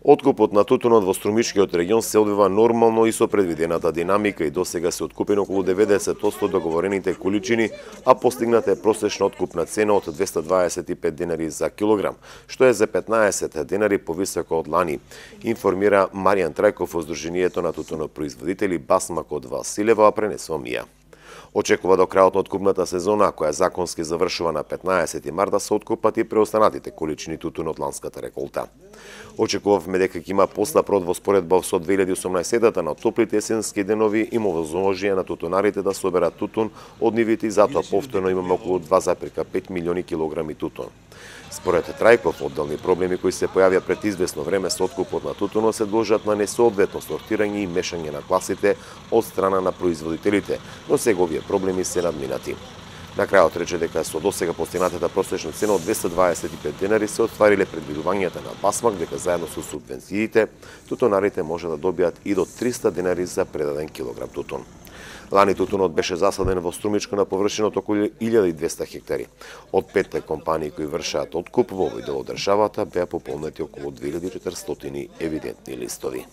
Откупот на тутунот во Струмичкиот регион се одвива нормално и со предвидената динамика и досега се откупени околу 90% договорените количини, а постигната е просечна откупна цена од 225 денари за килограм, што е за 15 денари повисоко од лани, информира Маријан Трајков од Сдруженијето на тутунопроизводители Басмак од Василево, а пренесува Мија. Очекува до крајот на откупната сезона, која законски завршува на 15 март, да се откупат и преостанатите количини тутун од ланската реколта. Очекувавме дека ќе има постап род во споредба со 2018-та на топлите есенски денови и возможија на тутунарите да соберат тутун од нивите и затоа повторно имаме околу 2,5 милиони килограми тутун. Според Трајков, одделни проблеми кои се појавија пред известно време со откупот на тутунот се должат на несоодветно сортирање и мешање на класите од страна на производителите, но сега овие проблеми се надминати. На крајот рече дека со досега постигнатата просечна цена од 225 денари се оствариле предвидувањата на Басмак дека заедно со субвенциите тутунарите може да добијат и до 300 денари за предаден килограм тутун. Лани тутунот беше засаден во Струмичко на површина од околу 1200 хектари. Од 5 компании кои вршаат откуп во овој дел од државата беа пополнети околу 2400 евидентни листови.